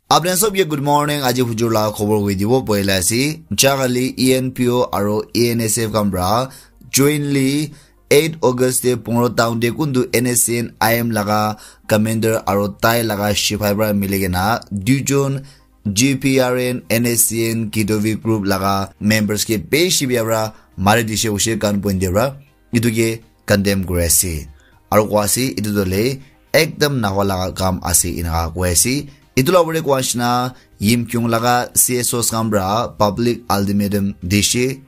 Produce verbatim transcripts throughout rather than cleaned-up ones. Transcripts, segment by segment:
Apni sob ke good morning. Aji hujur la khobor hoi dibo poila ase. Jagali E N P O aro E N S F khan pra jointly eight August te Pungro town te kuntu N S C N I M laga commander aro tai laga sipai pra mili kena duijon G P R N, N S C N, Kidovi group laga members ke beshi bia pra mari dishe hoise gunpoint te pra. Itu ke condemn kuri ase. Aro koi ase, itu toh le ekdam nahwa laga kam ase, enaka koi ase. Itu la upor te koi ase na, Yimkhiung laga C S Os khan pra public ultimatum dishe,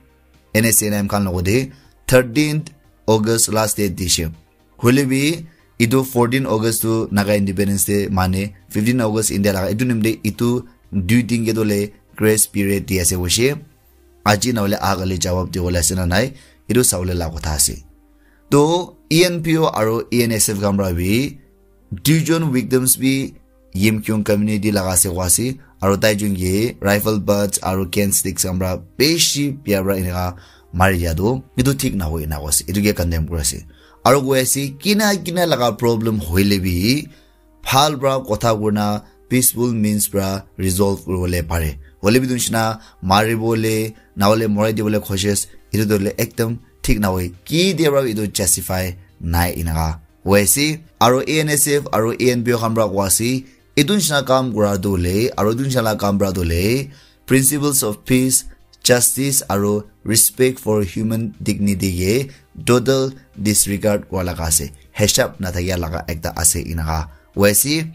N S C N I M khan logote thirteenth August last date dishe. Hoile bi, itu fourteen August tu Naga Independence Day mane, fifteen August India laga, itu nimite itu dui din ke toh le grace period di ase hoise. Aji nahole ahagali jawab dibole ase na nai, itu sabole la kotha ase. To E N P O aro E N S F khan pra bi duijon victims bi Yimkhiung community laga ase koi ase, aro tai jun ke rifle butts aro cane sticks khan pra beshi bia pra enaka mari dia tu, itu thik nahoi enaka ase, itu ke condemn kuri ase. Aro koi ase, kina kina laga problem hoile bi, bhal pra kotha kurina peaceful means pra resolve kuribole pare. Hoile bi etu nishina maribole, nahole morai dibole koshish, etu tu hoile ekdam thik nahoi. Ki dia pra etu justify nai enaka hoi ase. Aro A N S F aro A N P O khan pra koi ase, etu nishina kam kura tu hoile, aro etu nishina la kam pra tu hoile, principles of peace, justice aro respect for human dignity ke total disregard kura laga ase, hisab nathakia laga ekta ase enaka hoi ase.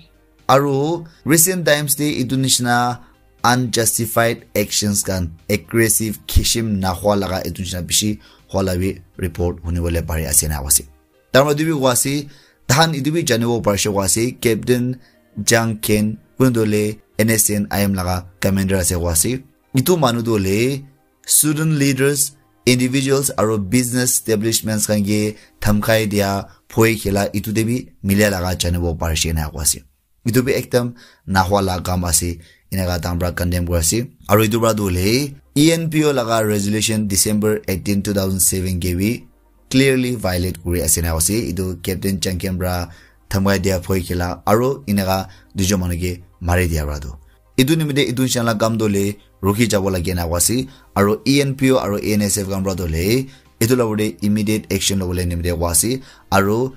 Aro recent times te etu nishina unjustified actions khan, aggressive khishim nahwa laga etu nishina bishi hwa la bi report hunibole pari ase enaka ase. Tar madi bi koi ase, tahan etu bi janibo parise koi ase, Captain Jang Ken, kun tu hoile N S C N I M laga commander ase koi ase. Etu manu tu hoile student leaders, individuals aro business establishments khan ke dhamkai dia, bhoi khela, etu te bi milia laga janibo parise enaka koi ase. Etu bi ekdam nahwa la kam ase, enaka tahan pra condemn kuri ase. Aro etu pra tu hoile E N P O laga resolution December eighteen, two thousand seven ke bi clearly violate kuri ase enaka ase. Etu Captain Changkem pra dhamkai dia, bhoi khela, aro enaka duijon manu ke mari dia pra tu. Etu nimite etu nishina la kam tu hoile rukhi jabo lage enaka ase. Aro E N P O aro A N S F khan pra tu hoile etu la upor te immediate action lobole nimite koi ase. Aro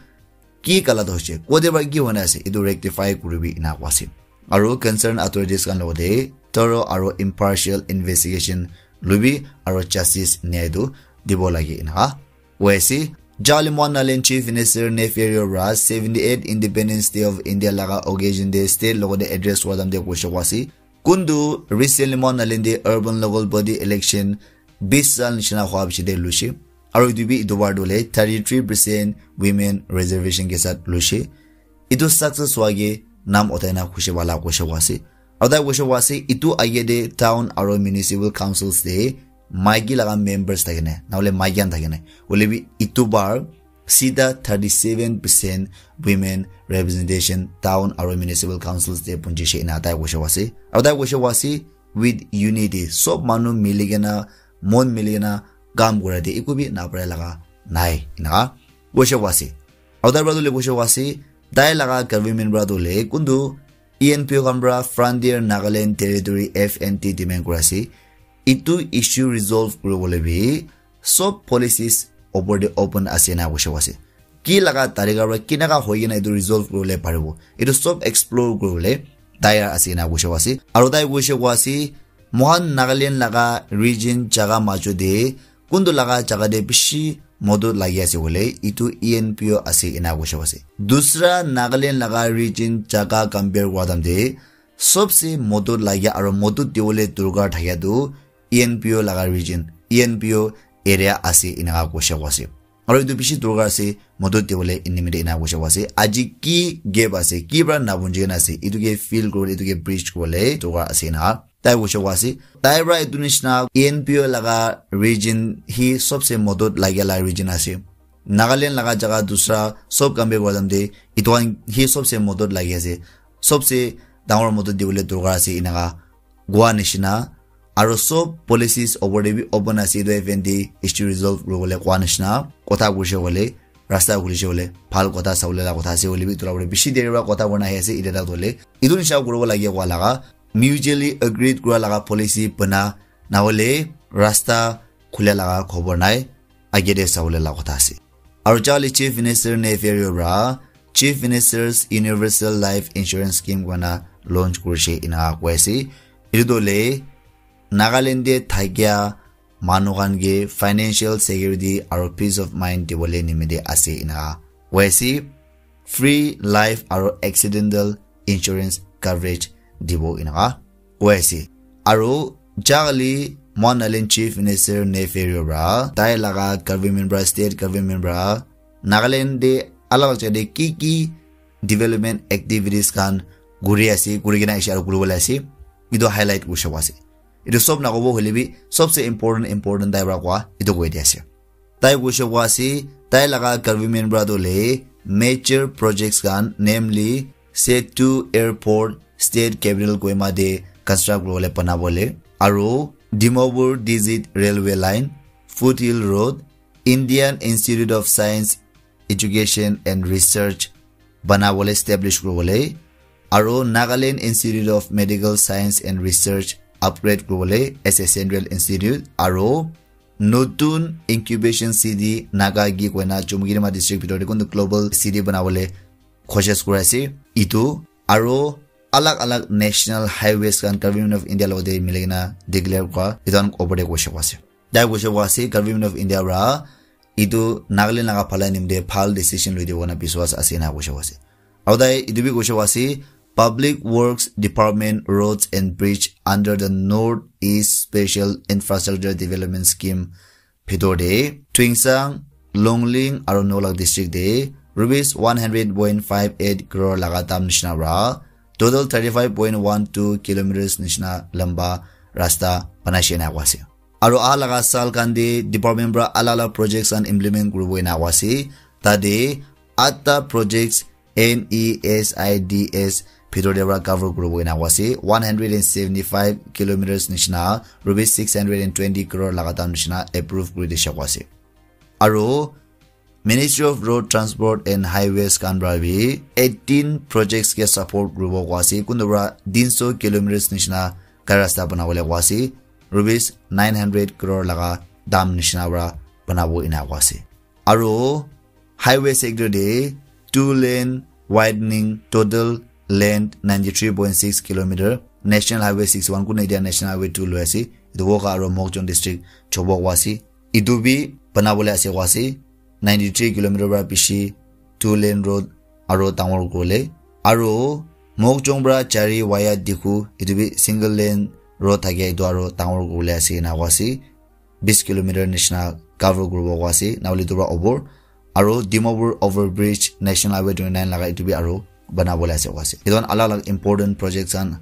ki galat hoise, kote para ki hoi na ase, etu rectify kuribi ena koi ase. Aru concerned authorities khan logote thorough aru impartial investigation lobi aru justice nyai tu dibo lage ena koi ase. Jalimangaland Chief Minister Neiphiu Rio para seventy eight Independence Day of India laga occasion te state logote address kora time te koise koi ase, kuntu recently Mangaland te urban local body election bis sal nishina hua piche te luishe. Aru etu bi etu bar tu hoile thirty three percent women reservation ke sath luishe. Etu success hua ke naam uthai na khushi wala koise koi ase. Aru tai koise koi ase, etu age te town aru municipal councils te maiki laga members thake nai, na hoile maiki khan thake nai. Hoile bi etu bar sida thirty seven percent women representation town aru municipal councils te punjishe ena tai koise koi ase. Aru tai koise koi ase, with unity, sob manu mili kena, mon mili kena kam kura te eku bi na pare laga nai, enaka koise koi ase. Aru tai para tu le koise koi ase, tai laga government para tu le kuntu E N P O khan para Frontier Nagaland Territory, F N T, demand kura ase. Etu issue resolve kuribole bi sob policies opor te open ase na koise koi ase. Ki laga tarika para kinaka hoi kena etu resolve kuribole paribo, etu sob explore kuribole tayar ase na koise koi ase. Aru tai koise koi ase, mohan Nagaland laga region jaga majo te kuntu laga jaga te bishi modot lagi ase hoile, etu E N P O ase ena koise koi ase. Dusra Nagaland laga region jaga compare kura time te sobse modot lagia aru modot dibole dorkar thakia tu E N P O laga region, E N P O area ase enaka koise koi ase. Aru etu bishi dorkar ase, modot dibole enimite ena koise koi ase. Aji ki gap ase, ki para na bunji kena ase, etu ke fill kuribole, etu ke bridge kuribole dorkar ase enaka tai koise koi ase. Tai para etu nishina E N P O laga region hi sobse modot lagia la region ase. Nagaland laga jaga dusra sob compare kura time te etu khan hi sobse modot lagi ase. Sobse dangor modot dibole dorkar ase enaka kua nishina. Aru sob policies opor te bi open ase, etu F N T issue resolve kuribole kua nishina. Kotha koise hoile, rasta khulise hoile, bhal kotha sabole la kotha ase hoile bi, etu la upor te bishi deri para kotha kurina ahi ase, etia tak hoile etu nishina kuribo lage kua laga mutually agreed kura laga policy bana, na hoile rasta khula laga khobor nai, age te sabole la kotha ase. Aru jale Chief Minister Neiphiu para Chief Minister's Universal Life Insurance Scheme koi na launch kurishe ena koi ase. Etu tu le Nagaland te thakia manu khan ke financial security aru peace of mind dibole nimite ase ena koi ase. Free life aru accidental insurance coverage dibo ena koi ase. Aru jale Mon Island Chief Minister Neiphiu para tai laga government para, state government para Nagaland te alag alag jagah te ki ki development activities khan kuri ase, kuri kena ase aru kuri bole ase, etu highlight kuri sabo ase. Etu sob na kobo hoile bi sobse important important tai para koa etu koi di ase. Tai koi sabo ase, tai laga government para tu le major projects khan, namely Setu Airport, State Capital Kohima te construct kuri bole bana bole, aru Dimapur Dizit Railway Line, Foothill Road, Indian Institute of Science, Education and Research bana bole, establish kuri bole, aru Nagaland Institute of Medical Science and Research upgrade kuri bole as a central institute, aru notun incubation city Naga Gi koi na Chumoukedima district bhitor te kuntu global city bana bole koshish kuri ase. Etu aru alag alag national highways khan Government of India logote mili kena declare kura, etu khan opor te koi sabo ase. Tai koi sabo ase, Government of India para etu Nagaland laga bhalai nimite bhal decision loi dibo koi na biswas ase ena koi sabo ase. Aru tai etu bi koi sabo ase, Public Works Department Roads and Bridge under the North East Special Infrastructure Development Scheme bhitor te Tuensang, Longleng aru Noklang district te rupees one hundred point five eight crore laga dam nishina para total thirty five point one two kilometers nishina lamba rasta banai she ena koi ase. Aru aha laga saal khan te department para alag alag projects khan implement kuri bo ena koi ase. Tate atta projects N E S I D S bhitor te para cover kuri bo ena koi ase. One hundred and seventy five kilometers nishina rupees six hundred and twenty crore laga dam nishina approve kuri dishe koi ase. Aru Ministry of Road Transport and Highways khan para bi eighteen projects ke support kuri bo koi ase. Kuntu para tin so kilometers nishina gari rasta bana bole koi ase. Rupees nine hundred crore laga dam nishina para bana bo ena koi ase. Aru highway sector te two lane widening, total length ninety three point six kilometer, National Highway six one, kuntu etia National Highway two loi ase. Etu Wokha aru Mokokchung district chobo koi ase. Etu bi bana bole ase koi ase. Ninety three kilometer para bishi two lane road aru dangor kuri bole. Aru Mokokchung para Chari via Dikhu, etu bi single lane road thake, etu aru dangor kuri bole ase ena koi ase. Bis kilometer nishina cover kuri bo koi ase, na hoile etu para opor. Aru Dimapur overbridge National Highway twenty nine laga etu bi aru bana bole ase koi ase. Etu khan alag alag important projects khan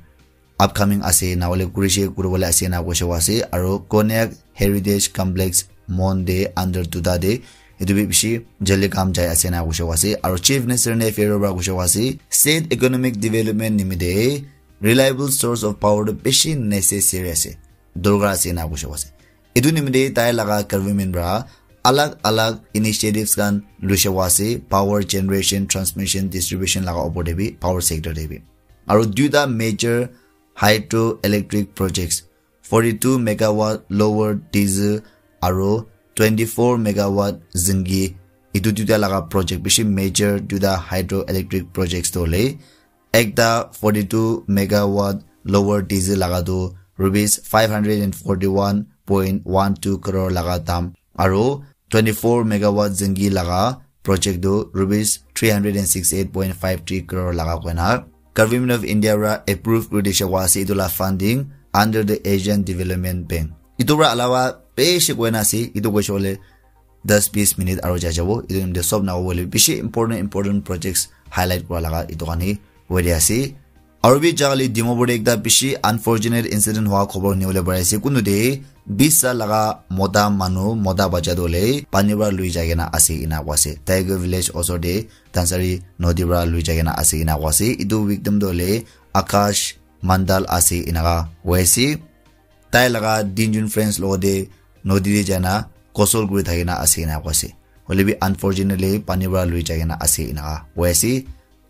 upcoming ase, na hoile kuri she kuri bole ase ena koi she koi ase. Aru Konyak Heritage Complex Mon te under duta te etu bi bishi jaldi kam jai ase ena koi she koi ase. Aru Chief Minister Neiphiu para koi she koi ase, state economic development nimite reliable source of power tu bishi necessary ase, dorkar ase ena koi she koi ase. Etu nimite tai laga government para alag alag initiatives khan loi she koi ase, power generation, transmission, distribution laga opor te bi, power sector te bi. Aru duita major hydroelectric projects, forty two megawatt Lower Dizhu aru twenty four megawatt Zingi, etu duita laga project bishi major duita hydroelectric projects tu hoile, ekta forty two megawatt Lower Dizhu laga tu rupees five hundred and forty one point one two crore laga dam, aru twenty four megawatt Zingi laga project tu rupees three hundred and sixty eight point five three crore laga koi na Government of India para approve kuri dishe koi ase. Etu la funding under the Asian Development Bank. Etu para alawa bishi koi na ase, etu koi she koi le das bis minute aru jai jabo. Etu nimite sob na hobo le bishi important important projects highlight kura laga etu khan he hoi di ase. Aru bi jale Dimapur te ekta bishi unfortunate incident hua khobor huni bole pari ase. Kuntu te bis sa laga mota manu, mota bacha tu hoile pani para lui jai kena ase ena koi ase. Tiger Village osor te Dhansari nodi para lui jai kena ase ena koi ase. Etu victim tu hoile Akash Mandal ase ena koi ase. Tai laga tinjon friends logote nodi te jai na ghusl kuri thaki na ase ena koi ase. Hoile bi unfortunately pani para lui jai kena ase ena koi ase.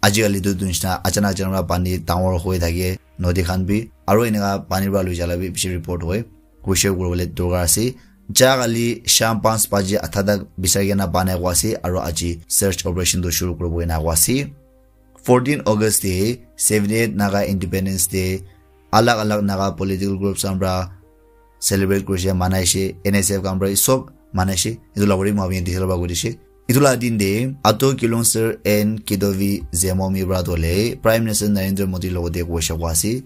Ajikali tu etu nishina achanak achanak para pani dangor hoi thake, nodi khan bi Aro eneka pani para loi jala bi bishi report hoi. Kosher kuribole dorkar ase. Ja kali sham panch baji atha tak bisari kena banai koa ase aro aji search operation tu shuru kuribo ena koa ase. Fourteen August te seventy-eight Naga Independence Day alag alag Naga political groups khan para celebrate kurishe, manaishe, N S F khan para sob manaishe. Etu la bari moi apni detail para koi dishe. Etu la din te Ato Kilongser and Kidovi Zemomi para tole Prime Minister Narendra Modi logote kosher koa ase.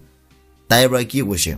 Tai para ki koishe?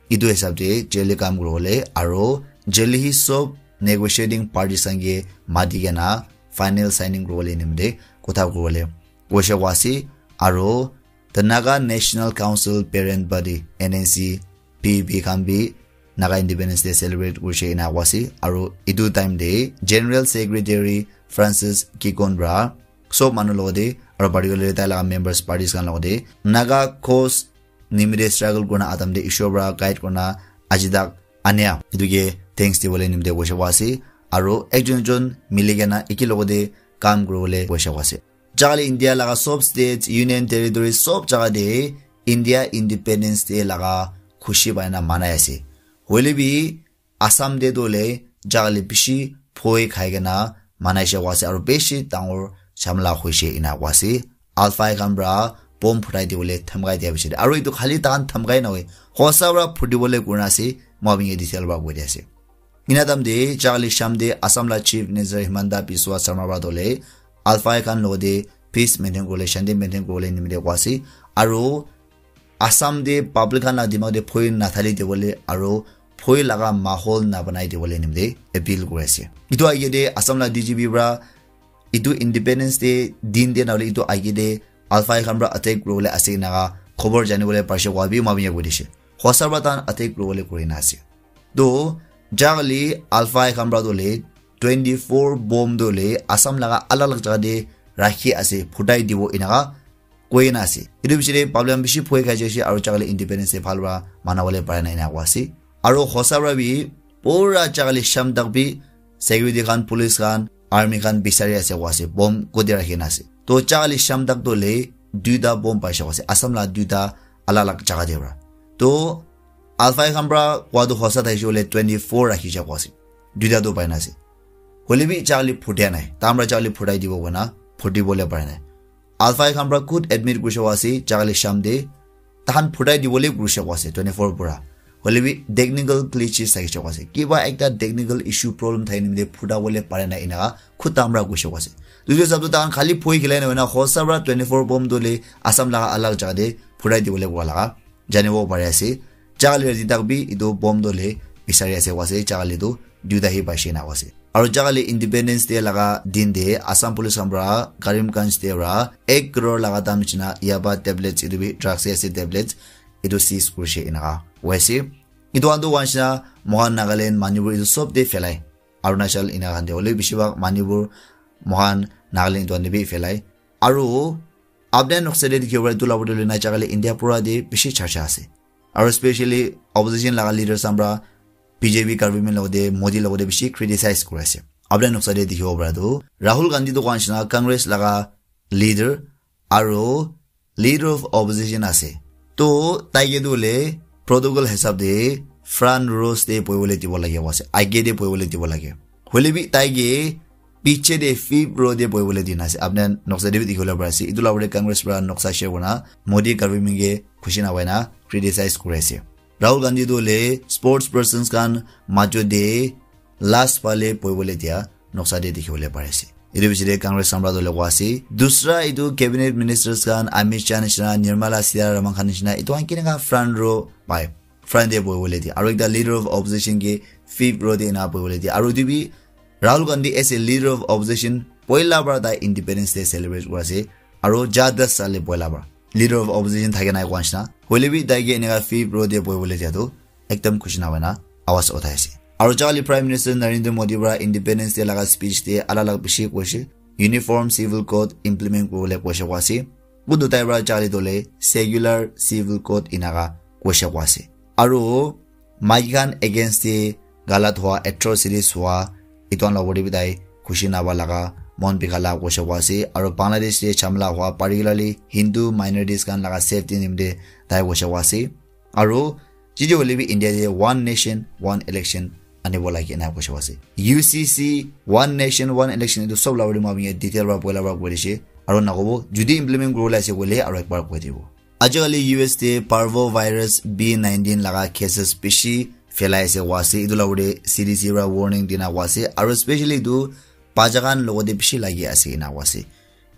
Etu hisab te jail te kam kuribole aro jail te hi sob negotiating parties khan ke mati kena final signing kuribole nimite kotha kuribole koishe koa ase. Aro the Naga National Council Parent Body, N N C P B khan bi Naga Independence Day celebrate kurishe ena koa ase. Aro etu time te General Secretary Francis Kikon para sob manu logote aro particularly tai laga members parties khan logote Naga cause nimite struggle kurina atam te Ishwar para guide kurina aji tak ania etu ke thanks dibole nimite koishe koa ase. Aro ekjon ekjon mili kena eki logote kam kuribole koishe koa ase. Jagale India laga sob states, union territories, sob jaga te India Independence Day laga khushi pai na manai ase. Hoile bi Assam te tu le jagale bishi phoi khai kena manaishe koa ase aro bishi dangor jhamla hoishe ena koa ase. Alfai khan para bomb phutai dibole dhamkai dia bishi. Aro etu khali tahan dhamkai nohoi. Hosa para phutibole kurina ase. Moi apni ke detail para koi dia ase. Ena time te jagale sham te Assam la Chief Minister Himanta Biswa Sarma para tole Alfai khan logote peace maintain kuribole, shanti maintain kuribole nimite koa ase. Aro Assam te public khan la dimag te phoi nathali dibole aro phoi laga mahol nabanai dibole nimite appeal kuri ase. Etu age te Assam la D G P para etu Independence Day din te nahole etu age te Alfai khan para attack kuribole ase ena khobor janibole parishe koa bi moi apni ke koi dishe. Hosa para tahan attack kuribole kurina ase. To jagale Alfai khan para tole twenty-four bomb tole Assam laga alag alag jaga te rakhi ase, phutai dibo eneka koi na ase. Etu bishi te public khan bishi phoi khai jaise aro jagale Independence Day bhal para manabole pare na ena koa ase. Aro hosa para bi pura jagale sham tak bi security khan, police khan, army khan bisari ase koa ase, bomb kote rakhi na ase. To jagale sham tak tole duita bomb paishe koa ase, Assam la duita alag alag jaga te para. To Alfai khan para koa tu hosa thaishe hoile twenty-four rakhi ja koa ase, duita tu pai na ase. Hoile bi jagale phutia nai, tahan para jagale phutai dibo koina phutibole pare nai. Alfai khan para khud admit kurishe koa ase, jagale sham te tahan phutai dibole kurishe koa ase twenty-four para. Hoile bi technical glitches thakishe koa ase. Kiba ekta technical issue problem thaki nimite phutabole pare nai eneka khud tahan para kurishe koa ase. Etu hisab te tahan khali phoi khilai na hoina hosa para twenty-four bomb tole Assam laga alag jaga te phutai dibole koa laga janibo pari ase. Jagale rati tak bi etu bomb tole bisari ase koa ase, jagale tu duita hi paishe ena koa ase. Aro jagale Independence Day laga din te Assam Police khan para Karimganj te para ek crore laga dam nishina yaba tablets, etu bi drugs ase tablets, etu seize kurishe eneka koi ase. Etu khan tu koa nishina moikhan Nagaland, Manipur etu sob te phelai, Arunachal eneka khan te hoile bishi bhag Manipur, moikhan Nagaland etu khan te bi phelai. Aro apni khan noksa te dikhibo pare etu la bottle na jagale India pura te bishi charcha ase. Aro specially opposition laga leaders khan para B J P government logote Modi logote bishi criticize kuri ase. Apni khan noksa te dikhibo para tu Rahul Gandhi tu koa nishina Congress laga leader aro leader of opposition ase. To tai ke tu le protocol hisab te front rows te bohibole dibo lage ase, age te bohibole dibo lage. Hoile bi tai ke piche te fifth row te bohibole dina ase. Apni khan noksa te bi dikhi bole pari ase. Etu la opor te Congress para noksa share kurina Modi government ke khushi na hoina criticize kuri ase. Rahul Gandhi tu hoile sports persons khan majo te last phale bohibole dia noksa te dikhi bole pari ase. Etu piche te Congress khan para tu hoile koa ase. Dusra etu cabinet ministers khan Amit Shah nishina, Nirmala Sitharaman khan nishina, etu khan keneka front row pai, front te bohibole dia. Aro ekta leader of opposition ke fifth row te ena bohibole dia. Aro etu bi Rahul Gandhi as a leader of opposition, poila para tai Independence Day celebrate kuri ase. Aro ja das saal te poila para leader of opposition thake nai koa nishina. Hoile bi tai ke eneka fifth row te bohibole dia tu ekdam khushi na hoina awaz uthai ase. Aro jagale Prime Minister Narendra Modi para Independence Day laga speech te alag alag bishi koishe. Uniform Civil Code implement kuribole koishe koa ase. Kuntu tai para jagale tole secular Civil Code eneka koishe koa ase. Aro maiki khan against te galat hua, atrocities hua, etu khan la opor te bi tai khushi naba laga, mon bikha la koishe koa ase. Aro Bangladesh te jhamla hua, particularly Hindu minorities khan laga safety nimite tai koishe koa ase. Aro jiji hoile bi India te one nation, one election anibo lage ena koishe ase. U C C, one nation, one election, etu sob la uri ma detail ra poila ra koi dishe. Aro nakobo, jodi implement kuribole ase koile aro ekbar koi dibo. Ajikali U S te parvovirus B nineteen laga cases bishi phelai ase koa ase. Etu la uri C D C ra warning dina koa ase. Aro specially etu bacha khan logote bishi lagi ase ena koa ase.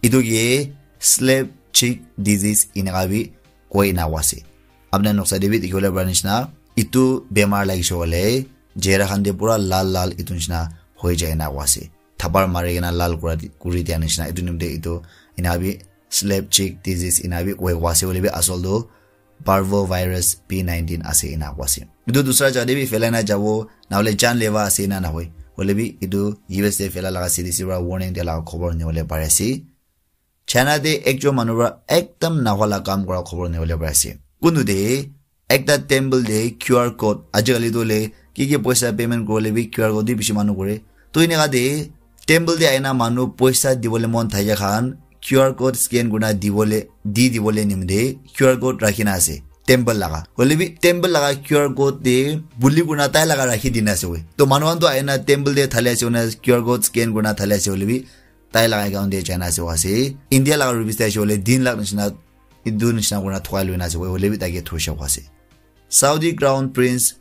Etu ke slap cheek disease eneka bi koi ena koa ase. Apni noksa te bi dikhi bole para nishina, etu bemar lagise koile, chehra khan te pura lal lal etu nishina hoi jai ena koa ase. Thapar mari kena lal kura di, kuri dia nishina, etu nimite etu ena bi slap cheek disease ena bi koi koa ase, hoile bi asol tu parvovirus B nineteen ase ena koa ase. Etu dusra jaga te bi phelai na jabo, na hole janleva ase ena na hoi. Hoile bi etu U S te phelai laga C D C para warning dia laga khobor nibole pari ase. China te ekjon manu para ekdam nahoi la kam kura khobor nibole pari ase. Kuntu te ekta temple te Q R code, ajikali tu le ki ki poisa payment kuribole bi Q R code di bishi manu kore. To eneka te temple te aina manu poisa dibole mon thaka khan Q R code scan kurina dibole, di dibole nimite Q R code rakhina ase temple laga. Hoile bi temple laga Q R code te buli kurina tai laga rakhi dina ase koi. To manu khan to aina temple te thali ase koina Q R code scan kurina thali ase, hoile bi tai laga account te jaina ase koa ase. India laga rupees te ase hoile tin lakh nishina, etu nishina kurina thukai loina ase koi, hoile bi tai ke thoishe koa ase. Saudi Crown Prince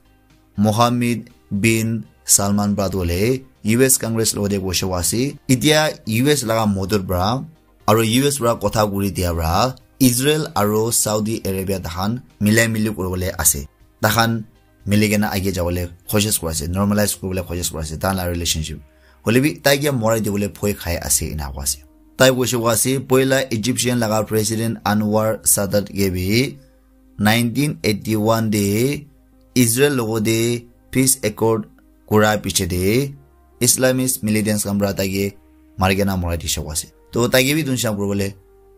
Mohammed bin Salman para tu hoile U S Congress logote koishe koa ase. Etia U S laga modot para aro U S para kotha kuri dia para Israel aro Saudi Arabia takhan milai mili kuribole ase. Takhan mili kena age jabole koshish kuri ase, normalize kuribole koshish kuri ase, tahan la relationship. Hoile bi tai ke morai dibole bhoi khai ase ena koa ase. Tai koishe koa ase, poila Egyptian laga President Anwar Sadat ke bi nineteen eighty-one te Israel logote peace accord kura piche te Islamist militants khan para tai ke mari kena morai dishe koa ase. To tai ke bi etu nishina kuribole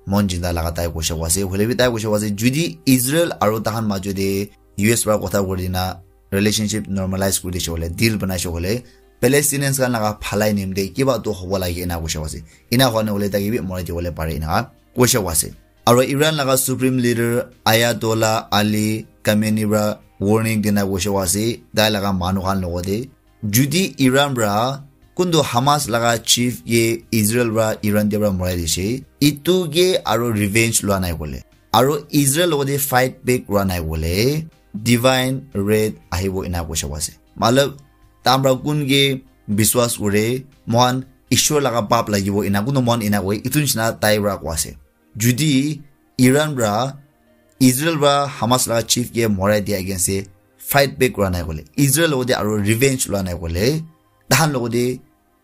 mon jinda laga tai koishe koa ase. Hoile bi tai koishe koa ase, jodi Israel aro tahan majo te U S para kotha kuri dina relationship normalize kuri dishe koile, deal banaishe koile, Palestinians khan laga bhalai nimite kiba tu hobo lage ena koishe koa ase. Ena hoi na hoile tai ke bi morai dibole pare ena koishe koa ase. Aro Iran laga Supreme Leader Ayatollah Ali Khamenei para warning dina koishe koa ase, tai laga manu khan logote. Jodi Iran para kuntu Hamas laga chief ke Israel para Iran te para morai dishe, etu ke aro revenge lua nai koile, aro Israel logote fight back kura nai koile, divine wrath ahibo ena koishe koa ase. Matlab, tahan para kun ke biswas kure, mohan Ishwar laga pap lagibo ena kuntu mohan ena koi, etu nishina tai para koa ase. Jodi Iran para Israel para Hamas laga chief ke morai dia against te fight back kura nai koile, Israel logote aro revenge lua nai koile, tahan logote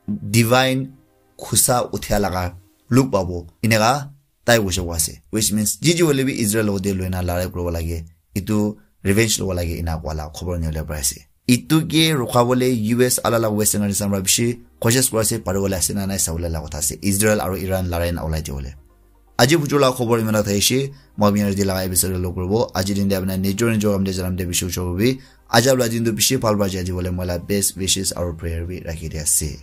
divine khusa uthia laga look pabo, eneka tai koishe koa ase. Which means, jiji hoile bi Israel logote loina larai kuribo lage, etu revenge lobo lage ena koa la khobor nibole pari ase. Etu ke rukha bole U S ala la Western countries para bishi koshish kuri ase, pari bole ase na nai sabole la kotha ase, Israel aro Iran larai na ulai dibole. Aji bujur la khobor imana thaishe, moi apni khan yate laga episode lo kuribo. Aji din te apni khan nijor nijor kam te janam te bishi ushor hobi. Aji la din tu bishi bhal para jai dibole moi la best wishes aro prayer bi rakhi di ase.